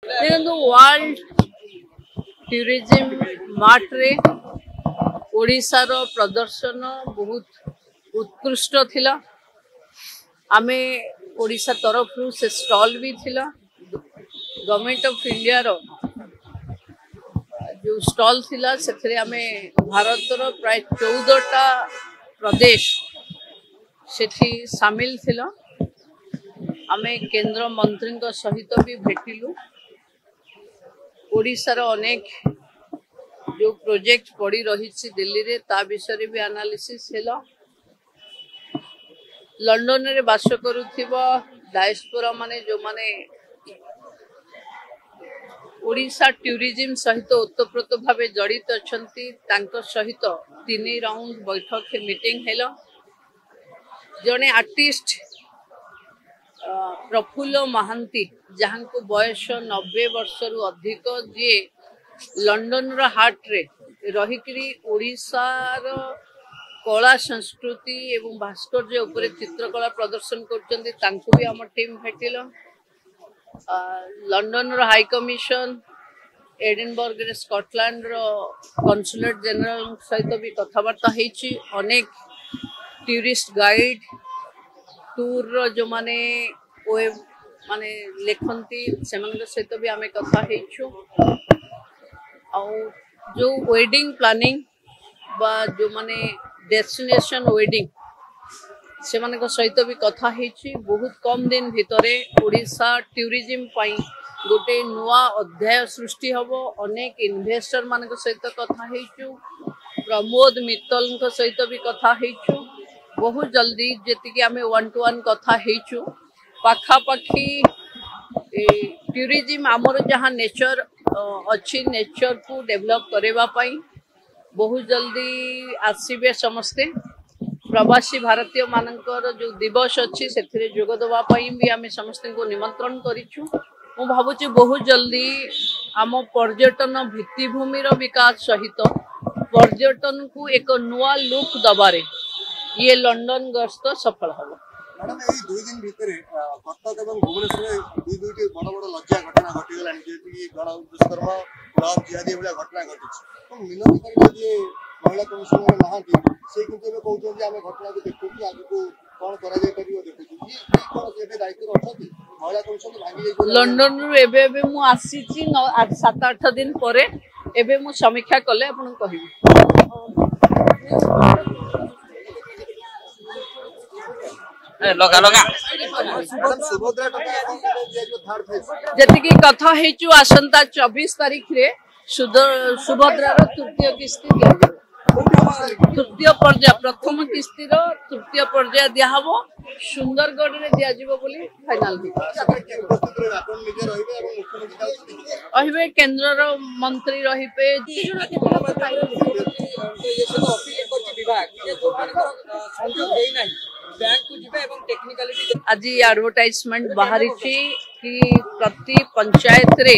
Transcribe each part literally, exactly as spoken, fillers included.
ଦେଖନ୍ତୁ, world tourism ମାର୍ଟରେ ଓଡ଼ିଶାର ପ୍ରଦର୍ଶନ ବହୁତ ଉତ୍କୃଷ୍ଟ ଥିଲା। ଆମେ ଓଡ଼ିଶା ତରଫରୁ ସେ ଷ୍ଟଲ୍ ବି ଥିଲା। ଗଭର୍ଣ୍ଣମେଣ୍ଟ ଅଫ୍ ଇଣ୍ଡିଆର ଯେଉଁ ଷ୍ଟଲ୍ ଥିଲା, ସେଥିରେ ଆମେ ଭାରତର ପ୍ରାୟ ଚଉଦଟା ପ୍ରଦେଶ ସେଠି ସାମିଲ ଥିଲା। ଆମେ କେନ୍ଦ୍ର ମନ୍ତ୍ରୀଙ୍କ ସହିତ ବି ଭେଟିଲୁ। ଓଡ଼ିଶାର ଅନେକ ଯେଉଁ ପ୍ରୋଜେକ୍ଟ ପଡ଼ି ରହିଛି ଦିଲ୍ଲୀରେ, ତା ବିଷୟରେ ବି ଆନାଲିସିସ୍ ହେଲା। ଲଣ୍ଡନରେ ବାସ କରୁଥିବା ଡାଏସ୍ପୋରା ମାନେ, ଯେଉଁମାନେ ଓଡ଼ିଶା ଟୁରିଜିମ୍ ସହିତ ଓତପ୍ରୋତ ଭାବେ ଜଡ଼ିତ ଅଛନ୍ତି, ତାଙ୍କ ସହିତ ତିନି ରାଉଣ୍ଡ ବୈଠକ ମିଟିଂ ହେଲା। ଜଣେ ଆର୍ଟିଷ୍ଟ ପ୍ରଫୁଲ୍ଲ ମହାନ୍ତି, ଯାହାଙ୍କୁ ବୟସ ନବେ ବର୍ଷରୁ ଅଧିକ, ଯିଏ ଲଣ୍ଡନର ହାର୍ଟରେ ରହିକରି ଓଡ଼ିଶାର କଳା, ସଂସ୍କୃତି ଏବଂ ଭାସ୍କର୍ଯ୍ୟ ଉପରେ ଚିତ୍ରକଳା ପ୍ରଦର୍ଶନ କରୁଛନ୍ତି, ତାଙ୍କୁ ବି ଆମ ଟିମ୍ ଭେଟିଲ। ଲଣ୍ଡନର ହାଇ କମିଶନ, ଏଡିନବର୍ଗରେ ସ୍କଟଲ୍ୟାଣ୍ଡର କନସୁଲେଟ୍ ଜେନେରାଲଙ୍କ ସହିତ ବି କଥାବାର୍ତ୍ତା ହେଇଛି। ଅନେକ ଟୁରିଷ୍ଟ ଗାଇଡ୍, ଟୁର୍ର ଯେଉଁମାନେ ୱେବ୍ ମାନେ ଲେଖନ୍ତି, ସେମାନଙ୍କ ସହିତ ବି ଆମେ କଥା ହେଇଛୁ। ଆଉ ଯେଉଁ ୱେଡିଂ ପ୍ଲାନିଂ ବା ଯେଉଁମାନେ ଡେଷ୍ଟିନେସନ୍ ୱେଡିଂ, ସେମାନଙ୍କ ସହିତ ବି କଥା ହେଇଛି। ବହୁତ କମ୍ ଦିନ ଭିତରେ ଓଡ଼ିଶା ଟୁରିଜିମ୍ ପାଇଁ ଗୋଟେ ନୂଆ ଅଧ୍ୟାୟ ସୃଷ୍ଟି ହେବ। ଅନେକ ଇନଭେଷ୍ଟର ମାନଙ୍କ ସହିତ କଥା ହେଇଛୁ, ପ୍ରମୋଦ ମିତ୍ତଲଙ୍କ ସହିତ ବି କଥା ହେଇଛୁ। ବହୁତ ଜଲ୍ଦି ଯେତିକି ଆମେ ୱାନ୍ ଟୁ ୱାନ୍ କଥା ହେଇଛୁ, ପାଖାପାଖି ଟୁରିଜିମ୍ ଆମର ଯାହା ନେଚର ଅଛି, ନେଚରକୁ ଡେଭଲପ୍ କରିବା ପାଇଁ ବହୁତ ଜଲ୍ଦି ଆସିବେ ସମସ୍ତେ। ପ୍ରବାସୀ ଭାରତୀୟ ମାନଙ୍କର ଯେଉଁ ଦିବସ ଅଛି, ସେଥିରେ ଯୋଗ ଦେବା ପାଇଁ ବି ଆମେ ସମସ୍ତଙ୍କୁ ନିମନ୍ତ୍ରଣ କରିଛୁ। ମୁଁ ଭାବୁଛି ବହୁତ ଜଲ୍ଦି ଆମ ପର୍ଯ୍ୟଟନ ଭିତ୍ତିଭୂମିର ବିକାଶ ସହିତ ପର୍ଯ୍ୟଟନକୁ ଏକ ନୂଆ ଲୁକ୍ ଦବାରେ ଇଏ ଲଣ୍ଡନ ଗସ୍ତ ସଫଳ ହେବ। ମ୍ୟାଡ଼ାମ, ଏଇ ଦୁଇ ଦିନ ଭିତରେ କଟକ ଏବଂ ଭୁବନେଶ୍ୱରରେ ଦୁଇ ଦୁଇଟି ବଡ଼ ବଡ଼ ଲଜ୍ଜା ଘଟଣା ଘଟିଗଲାଣି, ଯେମିତିକି ଗଣ ଦୁଷ୍କର୍ମ, ଲଭ୍ ଜିହାଦି ଭଳିଆ ଘଟଣା ଘଟିଛି। ଏବଂ ମିନତୀ ପରିଡ଼ା, ଯିଏ ମହିଳା କମିଶନରେ ନାହାନ୍ତି, ସେ କିନ୍ତୁ ଏବେ କହୁଛନ୍ତି ଆମେ ଘଟଣାକୁ ଦେଖୁଛୁ, ଆଗକୁ କଣ କରାଯାଇ ପାରିବ ଦେଖୁଛୁ। ଇଏ କଣ ଏବେ ଦାୟିତ୍ୱରେ ଅଛନ୍ତି? ମହିଳା କମିଶନ ଭାଙ୍ଗି ଯାଇଛି। ଲଣ୍ଡନରୁ ଏବେ ଏବେ ମୁଁ ଆସିଛି ସାତ ଆଠ ଦିନ ପରେ। ଏବେ ମୁଁ ସମୀକ୍ଷା କଲେ ଆପଣଙ୍କୁ କହିବି। ଲଗା ଲଗା। ସୁଭଦ୍ରା ଟଙ୍କା ଦିଆଯିବ ଥାର୍ଡ ଫେଜ୍? ଯେତିକି କଥା ହେଇଛୁ, ଆସନ୍ତା ଚବିଶ ତାରିଖରେ ସୁଭଦ୍ରାର ତୃତୀୟ କିସ୍ତି ଦିଆଯିବ। ତୃତୀୟ ପର୍ଯ୍ୟାୟ, ପ୍ରଥମ କିସ୍ତିର ତୃତୀୟ ପର୍ଯ୍ୟାୟ ଦିଆହବ, ସୁନ୍ଦରଗଡ଼ରେ ଦିଆଯିବ ବୋଲି ଫାଇନାଲ ହେଇଛି। ଉପସ୍ଥିତ ରହିବେ? ଆପଣ ନିଜେ ରହିବେ ଏବଂ ମୁଖ୍ୟମନ୍ତ୍ରୀ ଯାଉଛନ୍ତି? ରହିବେ, କେନ୍ଦ୍ରର ମନ୍ତ୍ରୀ ରହିବେ। ଆଜି ଆଡଭର୍ଟାଇଜମେଣ୍ଟ ବାହାରିଛି କି ପ୍ରତି ପଞ୍ଚାୟତରେ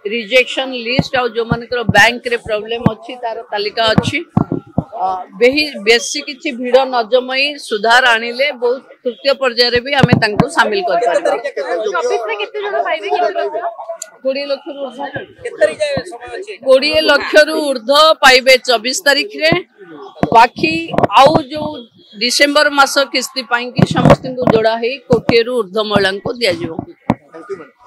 ରିଜେକ୍ସନ ଲିଷ୍ଟ ଆଉ ଯେଉଁମାନଙ୍କର ବ୍ୟାଙ୍କରେ ପ୍ରୋବ୍ଲେମ ଅଛି ତାର ତାଲିକା ଅଛି। ବେଶୀ କିଛି ଭିଡ଼ ନ ଜମାଇ ସୁଧାର ଆଣିଲେ ବହୁତ ତୃତୀୟ ପର୍ଯ୍ୟାୟରେ ବି ଆମେ ତାଙ୍କୁ ସାମିଲ କରିପାରିବା। କୋଡ଼ିଏ ଲକ୍ଷରୁ ଉର୍ଦ୍ଧ୍ୱ, କୋଡ଼ିଏ ଲକ୍ଷରୁ ଉର୍ଦ୍ଧ୍ୱ ପାଇବେ ଚବିଶ ତାରିଖରେ। ବାକି ଆଉ ଯୋଉ ଡିସେମ୍ବର ମାସ କିସ୍ତି ପାଇଁକି ସମସ୍ତଙ୍କୁ ଯୋଡ଼ା ହେଇ କୋଟିଏରୁ ଉର୍ଦ୍ଧ୍ୱ ମହିଳାଙ୍କୁ ଦିଆଯିବ। Thank you.